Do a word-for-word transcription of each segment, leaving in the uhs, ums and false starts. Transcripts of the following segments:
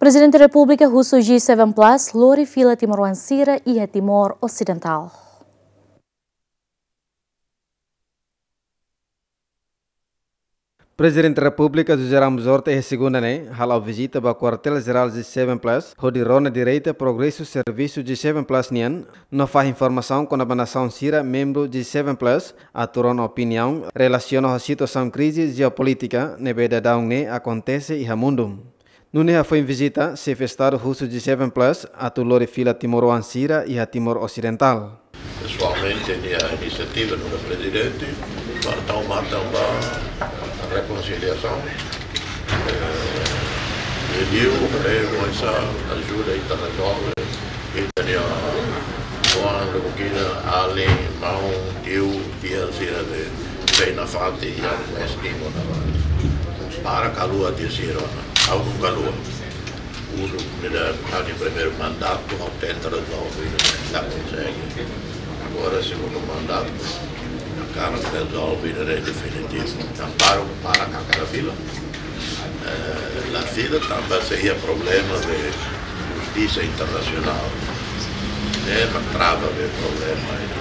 Prezidente Repúblika husu G seven Plus lori fila timoroan sira iha Timor Osidental. Prezidente Repúblika José Ramos Horta iha segunda ne'e hala'o vizita ba kuartél jerál G seven Plus, hodi rona direta progresu servisu G seven Plus nian, no fahe informasaun kona-ba nasaun sira membru G seven Plus, atu rona opiniaun relasiona ho situasaun krize jeopolítika ne'ebé daudaun ne'e akontese iha mundu. Nune'e hafoin vizita, Xefe Estadu husu G seven Plus atu lori fila timoroan sira iha Timor Osidental. Pesoalmente, nia inisiativa nu'udar prezidente, para tau matan ba rekonsiliasaun. Eh, pediu para ele começar ajuda ita rezolve. Ita-nia oan, lubukina, alin, maun, tiu, tia sira ne'ebé sei nafatin iha West Timor ne'ebá. Para kaluha tiha sira, ha'u nunka haluha. Uluk ne'e da ha'u-nia primeiru mandatu, ha'u tenta rezolve, la konsege. Agora, segundu mandatu, ha'u hakarak rezolve, ne'e definitivu. Entaun para, para hakarak fila. Eh, la fila tanba sei iha problema de justisa internasionál. Ne'e mak trava be problema ne'e.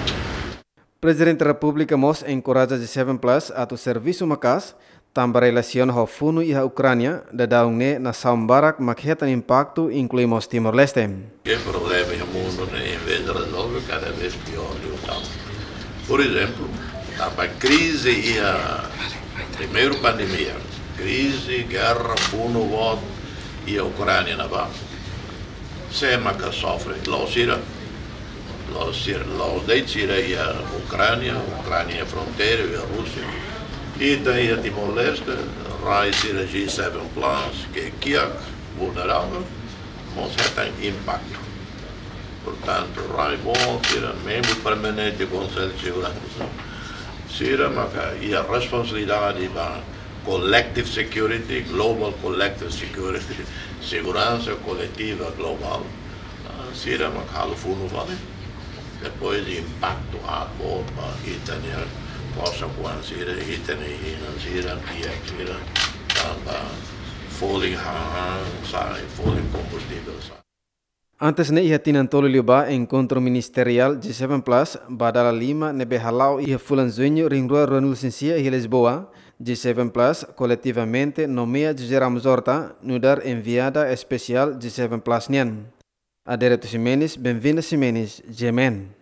Prezidente Repúblika mós enkoraja G seven Plus atu servisu maka'as, tanba relasiona ho funu iha Ukránia, daudaun ne'e nasaun barak mak hetan impaktu, inklui mós Timor-Leste. Ke problema iha mundu ne'e, envezde rezolve, kada vez piór liután. Por ezemplu, tanba krize iha primeiru pandemia, krize, gerra, funu boot iha Ukránia ne'ebá. Sé maka sofre? La'ós sira. La'ós sira, la'ós de'it sira iha Ukránia, Ukránia fronteira iha Rúsia. Ita iha Timor-Leste, rai sira G seven Plus, ke kiak, vulnerável, mós hetan impaktu. Portantu, rai boot sira, membru permanente Konsellu Seguransa, sira maka iha responsabilidade ba collective security, global collective security, seguransa koletiva globál. Ah, sira mak halo funu fali. Depois impaktu boot ba ita-nia kosa kuan sira, ita-nia inan sira, kiak sira, tanba folin hahán, sai, folin kombustivel sai. Antes ne'e iha tinan tolu liubá, enkontru ministeriál G seven Plus ba dala lima ne'ebé hala'o iha fulan Juñu rihun rua ruanulu-resin-sia iha Lisboa, G seven Plus koletivamente nomeia José Ramos Horta nu'udar enviada espesiál G seven Plus nian. Adérito Ximenes, Benvinda Ximenes, G M N.